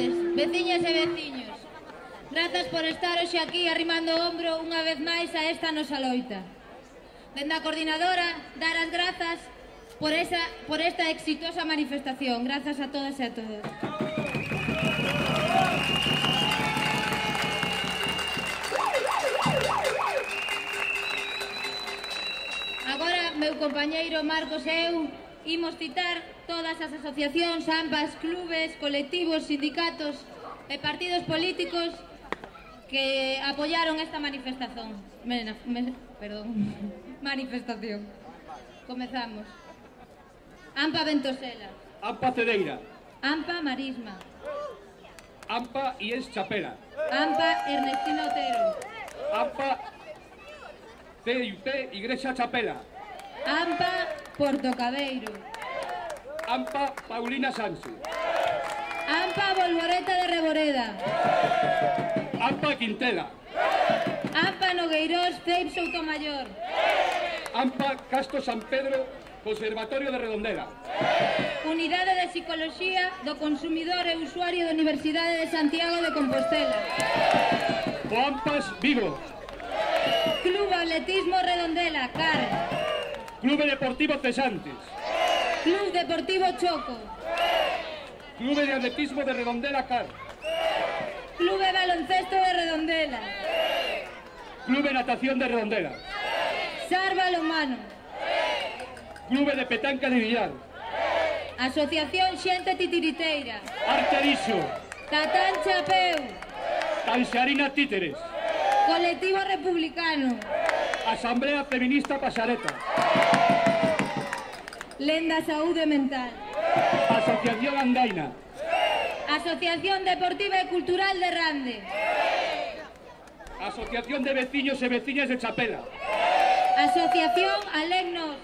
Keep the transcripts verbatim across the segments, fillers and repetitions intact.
tardes, veciñas e veciños. Grazas por estar hoxe aquí arrimando o ombro unha vez máis a esta nosa loita. Dende a coordinadora, dar as grazas por, esa, por esta exitosa manifestación. Grazas a todas e a todos. Agora, meu compañeiro Marcos e eu imos citar todas as asociacións, ambas, clubes, colectivos, sindicatos e partidos políticos que apoyaron esta manifestación. Mena, me, perdón, manifestación. Comezamos. AMPA Ventosela. AMPA Cedeira. AMPA Marisma. AMPA Ies Chapela. AMPA Ernestino Otero. AMPA C I U T Igrexa Chapela. AMPA Portocabeiro. AMPA Paulina Sanse. AMPA Bolboreta de Reboreda. AMPA Quintela. AMPA Nogueirós Ceip Soutomayor. AMPA Casto San Pedro Conservatorio de Redondela. Unidade de Psicoloxía do Consumidor e Usuario da Universidade de Santiago de Compostela. OAMPAS Vigo. Club Atletismo Redondela, C A R. Clube Deportivo Cesantes. Club Deportivo Choco. Clube de Atletismo de Redondela, C A R. Clube Baloncesto de Redondela. Clube Natación de Redondela. Sar Balonmano. Clube de Petanca de Villar. Asociación Xente Titiriteira. Arteriso. Tatán Chapeu. Tanxarina Títeres. Colectivo Republicano. Asamblea Feminista Pasareta. Lenda Saúde Mental. Asociación Andaina. Asociación Deportiva e Cultural de Rande. Asociación de Veciños e Veciñas de Chapela. Asociación Alegnos.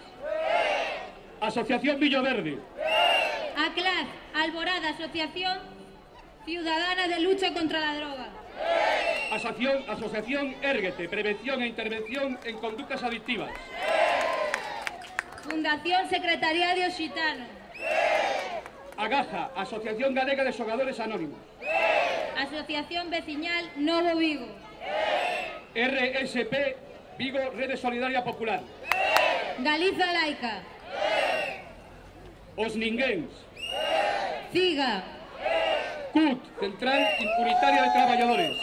Asociación Villoverde. ACLAD, Alborada, Asociación Ciudadana de Lucha contra la Droga. Asociación, Asociación Érguete, Prevención e Intervención en Conductas Adictivas. Fundación Secretariado Occitano. AGAJA, Asociación Galega de Xogadores Anónimos. Asociación Veciñal Novo Vigo. R S P Vigo, Rede Solidaria Popular. Galiza Laica. Os Ninguéns. CIGA. C U T, Central Unitaria de Traballadores.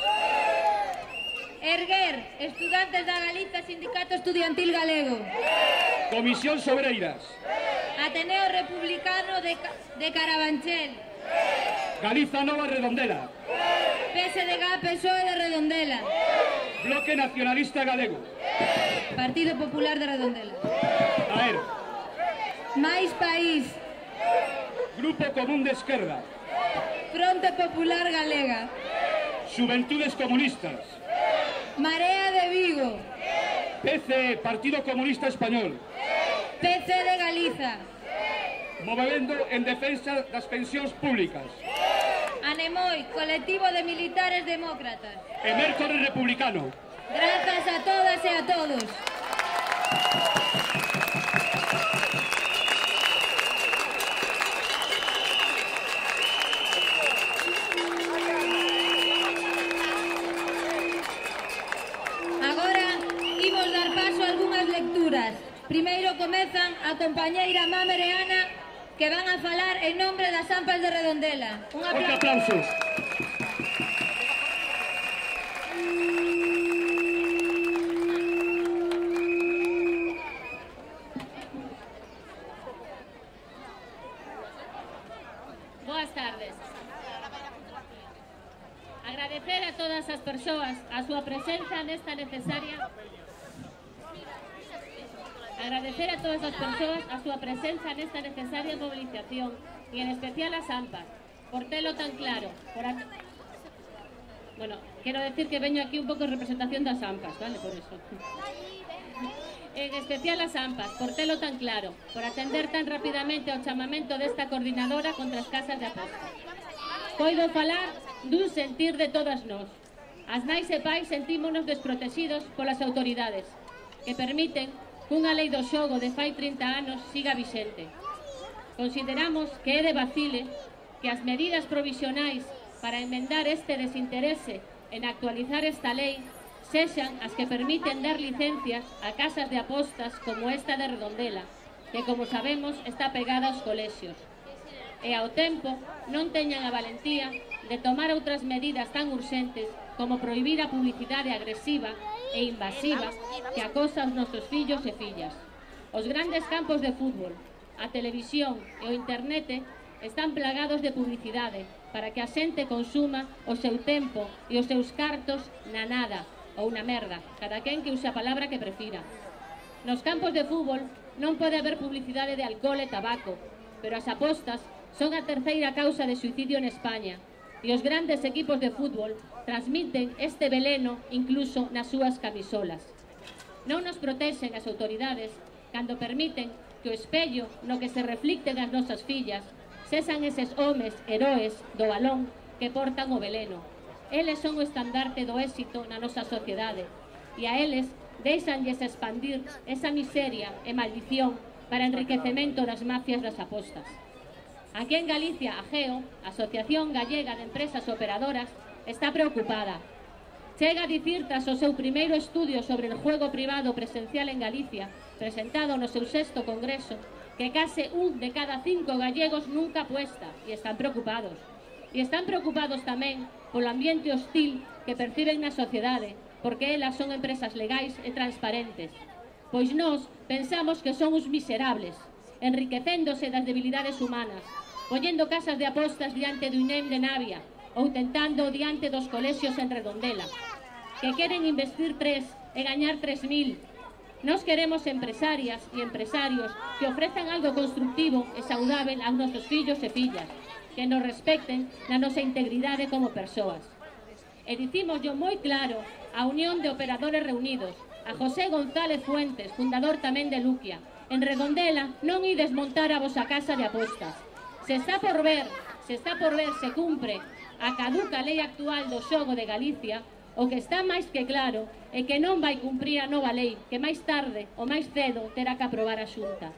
Erguer, Estudantes da Galiza, Sindicato Estudiantil Galego. Comisión Sobreiras. Ateneo Republicano de, de Carabanchel. Galiza Nova Redondela. P S D G P S O E de Redondela. Bloque Nacionalista Galego. Partido Popular de Redondela. A ver. Mais País. Grupo Común de Esquerda. Fronte Popular Galega. Xuventudes Comunistas. Marea de Vigo. P C E, Partido Comunista Español. P C de Galiza. Movemento en defensa das pensións públicas. Anemoi, Colectivo de Militares Demócratas. E Mércores Republicano. Grazas a todas e a todos. Agora imos dar paso a algunhas lecturas. Primeiro comezan a compañeira Mamer e Ana, que van a falar en nombre das AMPAs de Redondela. Un aplauso. aplausos. Boas tardes. Agradecer a todas as persoas a súa presenza nesta necesaria Agradecer a todas as persoas a súa presenza nesta necesaria movilización e en especial as AMPAs, por telo tan claro. Por a... Bueno, quero decir que veño aquí un pouco en representación das AMPAs, vale, por eso. En especial as AMPAs, por telo tan claro, por atender tan rapidamente ao chamamento desta coordinadora contra as casas de aposta. Poido falar dun sentir de todas nós. As nais e pais sentímonos desprotegidos polas autoridades, que permiten que unha lei do xogo de fai trinta anos siga vixente. Consideramos que é de vacile que as medidas provisionais para enmendar este desinterese en actualizar esta lei sexan as que permiten dar licencias a casas de apostas como esta de Redondela, que, como sabemos, está pegada aos colexios. E ao tempo non teñan a valentía de tomar outras medidas tan urxentes como prohibir a publicidade agresiva e invasiva que acosa aos nosos fillos e fillas. Os grandes campos de fútbol, a televisión e o internet están plagados de publicidade para que a xente consuma o seu tempo e os seus cartos na nada ou na merda, cada quen que use a palabra que prefira. Nos campos de fútbol non pode haber publicidade de alcohol e tabaco, pero as apostas son a terceira causa de suicidio en España e os grandes equipos de fútbol transmiten este veleno incluso nas súas camisolas. Non nos protexen as autoridades cando permiten que o espello no que se reflicten as nosas fillas cesan eses homes heroes do balón que portan o veleno. Eles son o estandarte do éxito na nosa sociedade e a eles deixanlles expandir esa miseria e maldición para enriquecemento das mafias das apostas. Aquí en Galicia, a GEO, Asociación Gallega de Empresas Operadoras, está preocupada. Chega a dicir, tras o seu primeiro estudio sobre el juego privado presencial en Galicia, presentado no seu sexto congreso, que case un de cada cinco gallegos nunca apuesta e están preocupados. E están preocupados tamén polo ambiente hostil que perciben na sociedade, porque elas son empresas legais e transparentes. Pois nós pensamos que son os miserables, enriquecéndose das debilidades humanas, poñendo casas de apostas diante do I N E M de Navia ou tentando diante dos colexios en Redondela, que queren investir tres e gañar tres mil. Nos queremos empresarias e empresarios que ofrezan algo constructivo e saudável aos nosos fillos e fillas, que nos respecten na nosa integridade como persoas. E dicimos yo moi claro a Unión de Operadores Reunidos, a José González Fuentes, fundador tamén de Luquia: en Redondela non ides montar a vosa casa de apostas. Se está por ver, se está por ver se cumpre a caduca lei actual do xogo de Galicia, o que está máis que claro é que non vai cumprir a nova lei, que máis tarde ou máis cedo terá que aprobar a Xunta.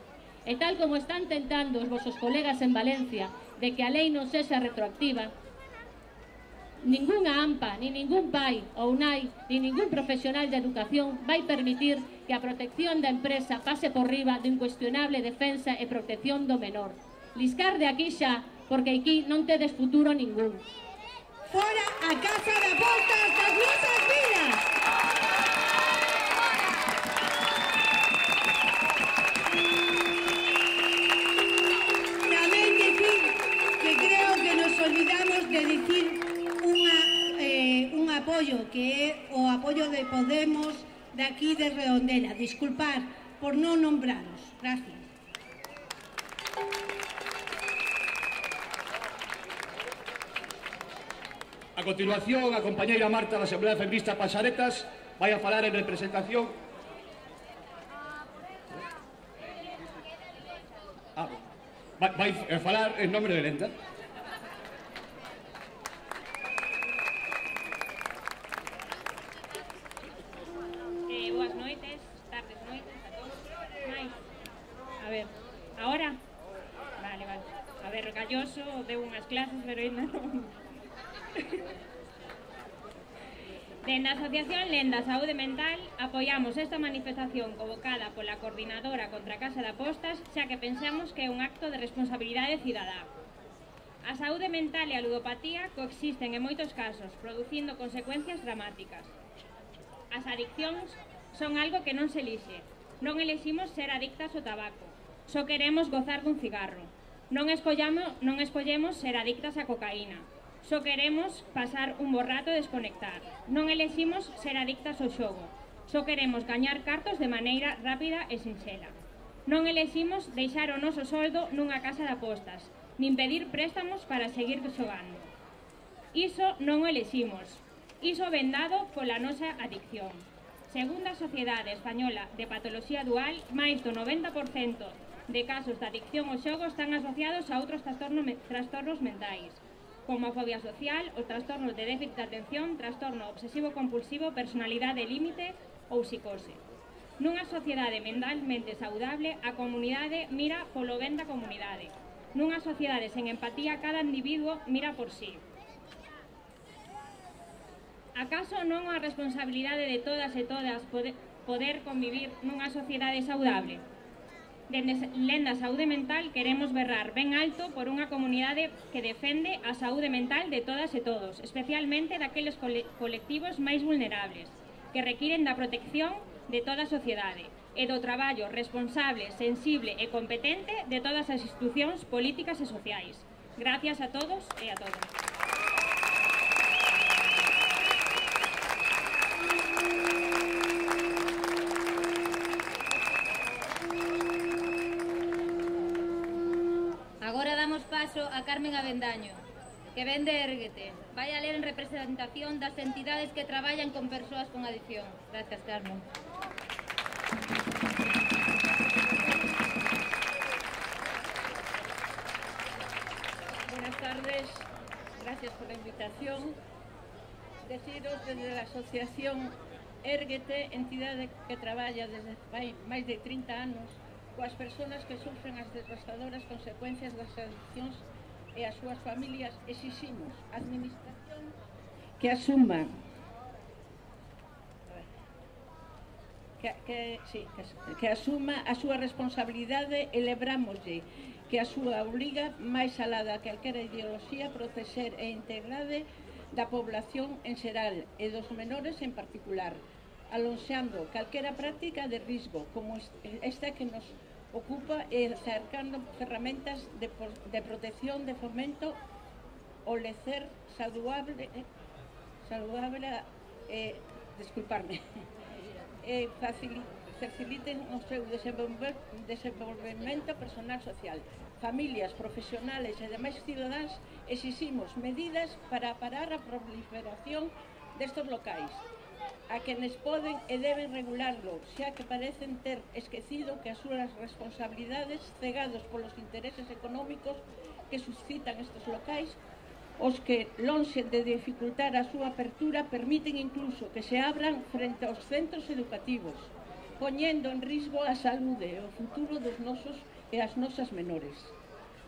E tal como están tentando os vosos colegas en Valencia de que a lei non sexa retroactiva, ningunha AMPA, ni ningún pai ou nai, ni ningún profesional de educación vai permitir que a protección da empresa pase por riba de incuestionable defensa e protección do menor. Liscar de aquí xa, porque aquí non tedes futuro ningún. Fora a casa de apostas das nosas vidas! Tamén dicir que creo que nos olvidamos de dicir unha, eh, un apoio, que é o apoio de Podemos de aquí de Redondela. Disculpar por non nombraros. Gracias. A continuación, a compañeira Marta da Asamblea Feminista Pasaretas vai a falar en representación. Ah, vai a falar en nome de Lenda. Eh, boas noites, tardes, noites a todos. Mais. A ver, ahora? Vale, vale. A ver, Galloso deu unhas clases, pero ainda non. Dende a Asociación Lenda Saúde Mental apoiamos esta manifestación convocada pola Coordinadora contra a Casa de Apostas, xa que pensamos que é un acto de responsabilidade cidadá. A saúde mental e a ludopatía coexisten en moitos casos, producindo consecuencias dramáticas. As adiccións son algo que non se elixe. Non eliximos ser adictas ao tabaco, só queremos gozar dun cigarro. Non escollamos, non escollemos ser adictas á cocaína. Só queremos pasar un bo rato e desconectar. Non eleximos ser adictas ao xogo. Só queremos gañar cartos de maneira rápida e sinxela. Non eleximos deixar o noso soldo nunha casa de apostas, nin pedir préstamos para seguir xogando. Iso non o eleximos. Iso vendado pola nosa adicción. Segundo a Sociedade Española de Patoloxía Dual, máis do noventa por cento de casos de adicción ao xogo están asociados a outros trastornos mentais, como a fobia social, os trastornos de déficit de atención, trastorno obsesivo-compulsivo, personalidade límite ou psicose. Nunha sociedade mentalmente saudable, a comunidade mira polo ben da comunidade. Nunha sociedade sen empatía, cada individuo mira por sí. Acaso non é a responsabilidade de todas e todas poder convivir nunha sociedade saudable? Dende Lenda Saúde Mental queremos berrar ben alto por unha comunidade que defende a saúde mental de todas e todos, especialmente daqueles colectivos máis vulnerables, que requiren da protección de toda a sociedade e do traballo responsable, sensible e competente de todas as institucións políticas e sociais. Gracias a todos e a todas. Agora damos paso a Carmen Avendaño, que ven de Érguete. Vai a ler en representación das entidades que traballan con persoas con adicción. Gracias, Carmen. Buenas tardes, gracias por la invitación. Deciros desde la asociación Érguete, entidade que traballa desde máis de trinta anos coas persoas que sufren as devastadoras consecuencias das adiccións e as súas familias, exiximos a administración que asuma que, que, sí, que, que asuma a súa responsabilidade e lebrámoslle que a súa obriga máis alá da calquera ideoloxía protexer e integrade da población en xeral e dos menores en particular, alonxando calquera práctica de risco como esta que nos ocupa e acercando ferramentas de, de protección, de fomento o lecer saludable, saludable eh, disculparme, eh, faciliten o seu desenvolvemento personal social. Familias, profesionales e demais cidadáns exiximos medidas para parar a proliferación destes locais, a quenes poden e deben regularlo, xa que parecen ter esquecido que as súas responsabilidades, cegados polos intereses económicos que suscitan estes locais, os que, lonxe de dificultar a súa apertura, permiten incluso que se abran frente aos centros educativos, poñendo en risco a saúde e o futuro dos nosos e as nosas menores.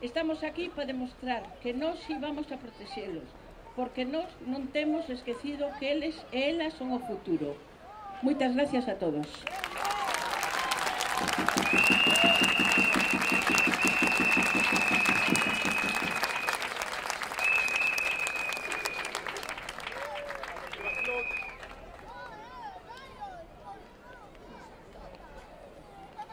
Estamos aquí para demostrar que nós íbamos a protexelos, porque nós non temos esquecido que eles e elas son o futuro. Moitas gracias a todos.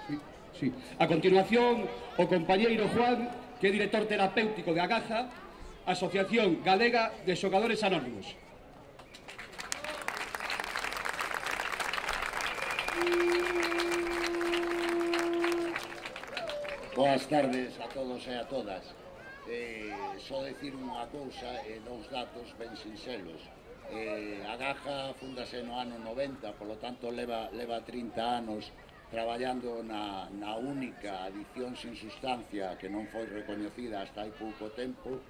Sí, sí. A continuación, o compañeiro Juan, que é director terapéutico de Agaja, Asociación Galega de Xogadores Anónimos. Boas tardes a todos e a todas. Eh, só decir unha cousa e dous datos ben sinxelos. Eh, Agaja fundase no ano noventa, polo tanto leva, leva trinta anos traballando na, na única adicción sin sustancia que non foi recoñecida hasta hai pouco tempo.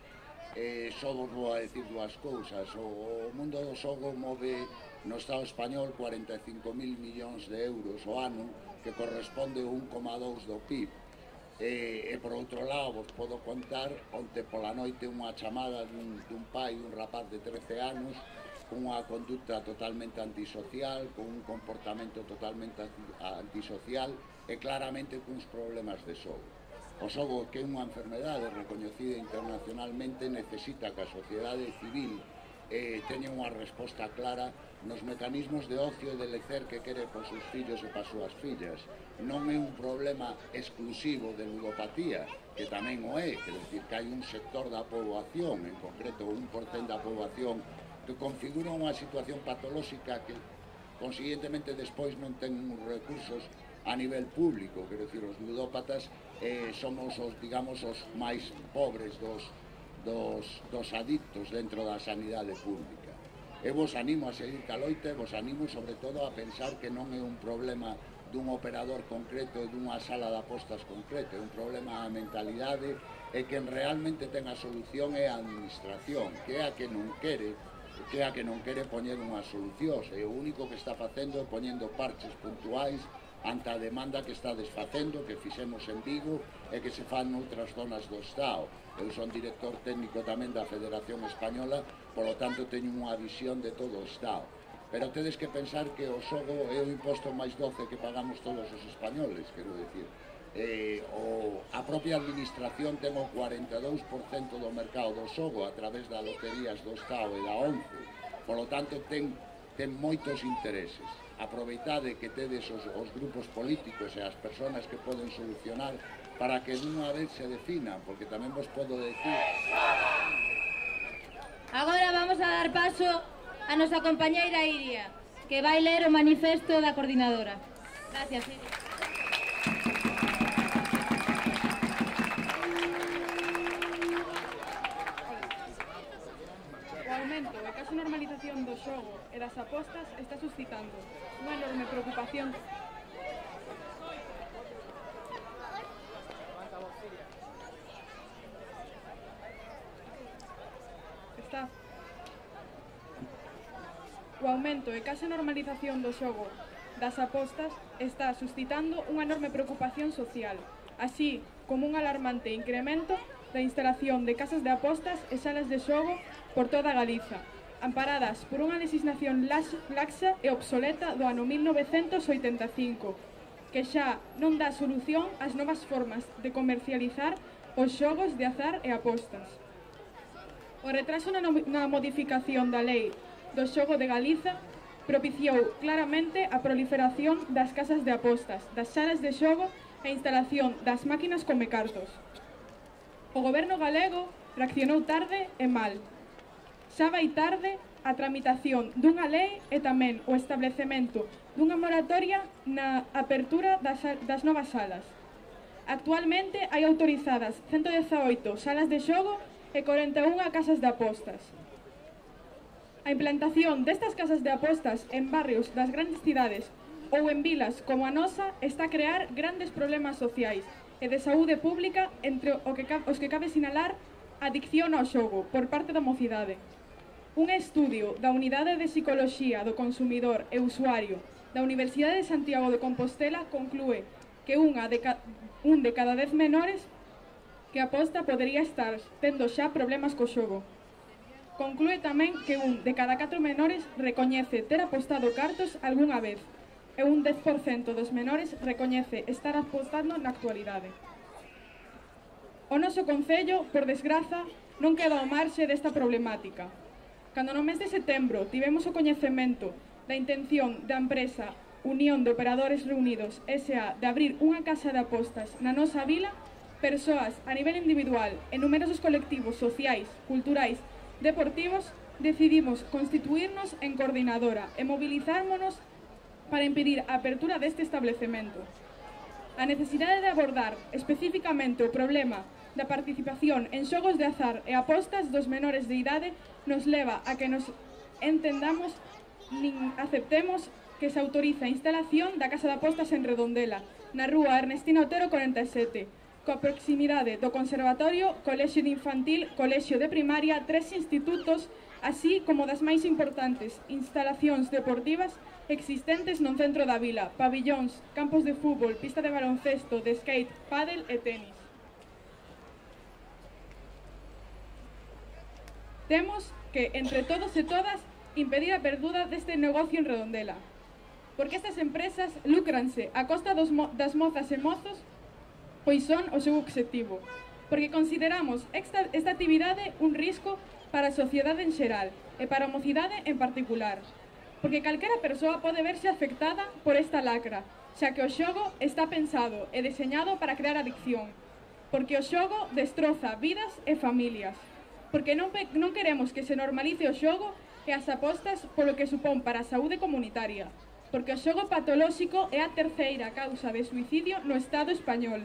Eh, só vos vou a decir dúas cousas. O, o mundo do xogo move no Estado español cuarenta e cinco mil millóns de euros ao ano, que corresponde a un coma dous do P I B. E, e por outro lado, vos podo contar, onte pola noite unha chamada dun, dun pai, un rapaz de trece anos, con unha conducta totalmente antisocial, con un comportamento totalmente antisocial e claramente cuns problemas de xogo. O xogo, que é unha enfermedade recoñecida internacionalmente, necesita que a sociedade civil eh, teña unha resposta clara nos mecanismos de ocio e de lecer que quere por seus fillos e para súas fillas. Non é un problema exclusivo de ludopatía, que tamén o é, quer decir que hai un sector da poboación, en concreto un por cento da poboación, que configura unha situación patolóxica que, consiguientemente, despois non ten uns recursos a nivel público, quer decir, os ludópatas eh, somos os, digamos, os máis pobres dos, dos, dos adictos dentro da sanidade pública. E vos animo a seguir ca loita e vos animo sobre todo a pensar que non é un problema dun operador concreto e dunha sala de apostas concreto, é un problema a mentalidade e que realmente ten a solución é a administración, que é a que non quere que é a que non quere poñer unha solución, e o único que está facendo é poñendo parches puntuais ante a demanda que está desfacendo, que fixemos en Vigo e que se fan noutras zonas do Estado. Eu son director técnico tamén da Federación Española polo tanto teño unha visión de todo o Estado. Pero tedes que pensar que o xogo é o imposto máis doce que pagamos todos os españoles, quero dicir. Eh, o, a propia administración ten o cuarenta e dous por cento do mercado do xogo a través das loterías do Estado e da ONCE, polo tanto ten, ten moitos intereses. Aproveitade que tedes os, os grupos políticos e as persoas que poden solucionar para que dunha vez se definan, porque tamén vos podo decir... Agora vamos a dar paso a nosa compañeira Iria, que vai ler o manifesto da coordinadora. Gracias, Iria. A case normalización do xogo e das apostas está suscitando unha enorme preocupación está o aumento e case normalización do xogo das apostas está suscitando unha enorme preocupación social, así como un alarmante incremento da instalación de casas de apostas e salas de xogo por toda Galiza, amparadas por unha legislación laxa e obsoleta do ano mil novecentos oitenta e cinco, que xa non dá solución ás novas formas de comercializar os xogos de azar e apostas. O retraso na, no na modificación da lei do xogo de Galiza propiciou claramente a proliferación das casas de apostas, das salas de xogo e a instalación das máquinas comecartos. O goberno galego reaccionou tarde e mal. Xa vai tarde a tramitación dunha lei e tamén o establecemento dunha moratoria na apertura das, das novas salas. Actualmente hai autorizadas ciento dezaoito salas de xogo e corenta e unha casas de apostas. A implantación destas casas de apostas en barrios das grandes cidades ou en vilas como a nosa está a crear grandes problemas sociais e de saúde pública, entre o que, os que cabe sinalar a adicción ao xogo por parte da mocidade. Un estudio da Unidade de Psicoloxía do Consumidor e Usuario da Universidade de Santiago de Compostela conclúe que unha de ca... un de cada dez menores que aposta podería estar tendo xa problemas co xogo. Conclúe tamén que un de cada catro menores recoñece ter apostado cartos algunha vez e un dez por cento dos menores recoñece estar apostando na actualidade. O noso concello, por desgraza, non queda ao marxe desta problemática. Cando no mes de setembro tivemos o coñecemento da intención da empresa Unión de Operadores Reunidos S A de abrir unha casa de apostas na nosa vila, persoas a nivel individual e numerosos colectivos sociais, culturais, deportivos, decidimos constituirnos en coordinadora e movilizármonos para impedir a apertura deste establecemento. A necesidade de abordar especificamente o problema da participación en xogos de azar e apostas dos menores de idade nos leva a que nos entendamos nin aceptemos que se autoriza a instalación da Casa de Apostas en Redondela, na rúa Ernestina Otero cuarenta e sete, coa proximidade do Conservatorio, Colexio de Infantil, Colexio de Primaria, tres institutos, así como das máis importantes instalacións deportivas existentes no centro da vila, pabillóns, campos de fútbol, pista de baloncesto, de skate, pádel e tenis. Temos que, entre todos e todas, impedir a apertura deste negocio en Redondela, porque estas empresas lucranse a costa dos mo das mozas e mozos, pois son o seu obxectivo, porque consideramos esta, esta actividade un risco para a sociedade en xeral e para a mocidade en particular, porque calquera persoa pode verse afectada por esta lacra, xa que o xogo está pensado e deseñado para crear adicción, porque o xogo destroza vidas e familias, porque non, non queremos que se normalice o xogo e as apostas polo que supón para a saúde comunitaria, porque o xogo patolóxico é a terceira causa de suicidio no Estado español,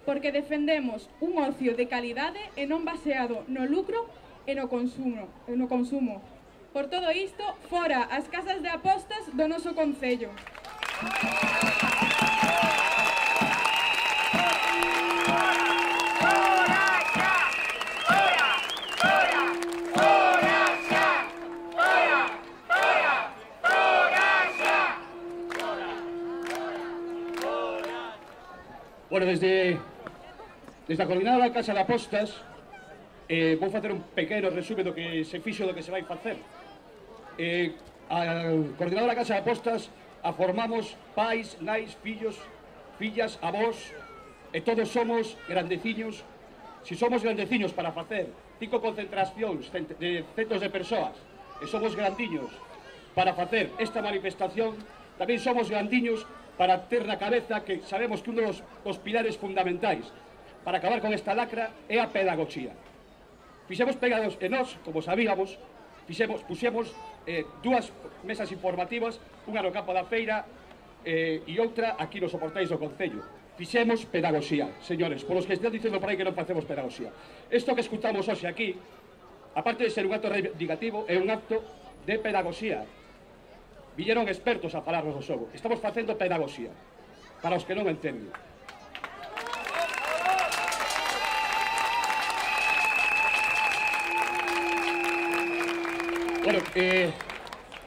porque defendemos un ocio de calidade e non baseado no lucro e no consumo. No consumo. Por todo isto, fora as casas de apostas do noso concello. Bueno, desde, desde a Coordinadora da Casa de Apostas Eh, vou facer un pequeno resume do que se fixo do que se vai facer. Eh, a coordinadora da Casa de Apostas a formamos pais, nais, fillos, fillas, avós, e todos somos grandeciños. Si somos grandeciños para facer cinco concentracións de centos de persoas e somos grandiños para facer esta manifestación, tamén somos grandiños para ter na cabeza que sabemos que un dos, dos pilares fundamentais para acabar con esta lacra é a pedagogía. Fixemos pegados e nós, como sabíamos, fixemos, puxemos eh, dúas mesas informativas, unha no campo da feira eh, e outra aquí nos soportais do Concello. Fixemos pedagogía, señores, por os que están dicendo por aí que non facemos pedagogía. Isto que escutamos hoxe aquí, aparte de ser un acto reivindicativo, é un acto de pedagogía. Villeron expertos a falarnos do xogo. Estamos facendo pedagogía, para os que non entenden. Bueno, eh,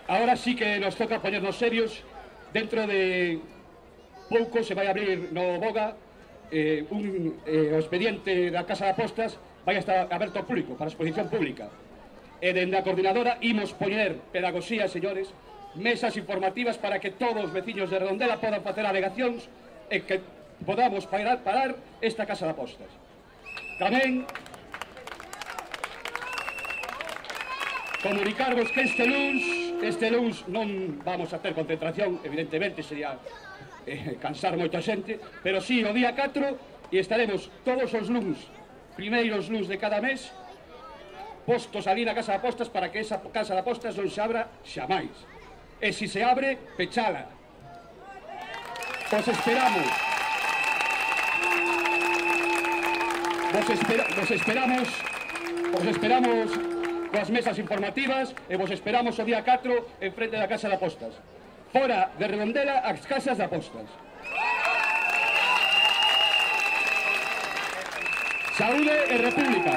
ahora sí que nos toca ponernos serios. Dentro de pouco se vai abrir no Boga eh, un eh, o expediente da Casa de Apostas vai estar aberto ao público, para exposición pública. E dende a coordinadora imos poñer pedagogía, señores, mesas informativas para que todos os veciños de Redondela podan facer alegacións e que podamos parar, parar esta Casa de Apostas. Tamén comunicarvos que este luns, este luns non vamos a ter concentración, evidentemente sería eh, cansar moita xente, pero sí o día catro e estaremos todos os luns, primeiros luns de cada mes, postos ali na Casa de Apostas para que esa Casa de Apostas non se abra xamais. E se se abre, pechala. Vos esperamos. Vos, espera, vos esperamos, vos esperamos coas mesas informativas e vos esperamos o día catro en frente da Casa de Apostas. Fora de Redondela as casas de apostas. Saúde e República.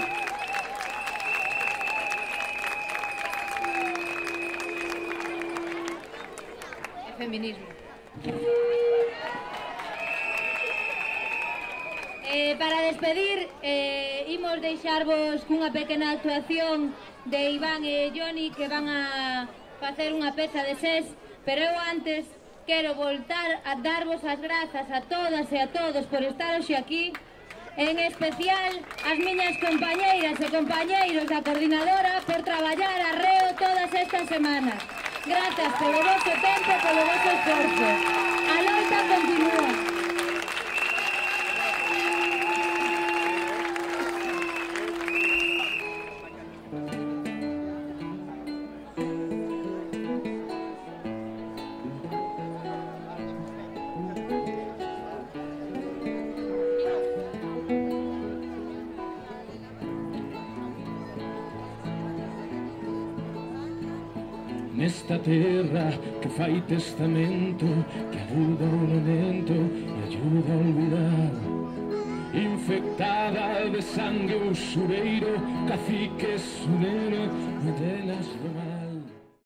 E feminismo. Eh, para despedir, eh, imos deixarvos cunha pequena actuación de Iván e Johnny que van a facer unha peza de ses, pero eu antes quero voltar a darvos as grazas a todas e a todos por estar hoxe aquí, en especial as miñas compañeiras e compañeiros da coordinadora por traballar arreo todas estas semanas. Grazas polo vosso tempo e polo vosso esforzo. A loita continúa. Nesta terra que fai testamento, que aluda o lamento e ayuda a olvidar, infectada de sangue o xureiro, cacique sunero, metelas do mar.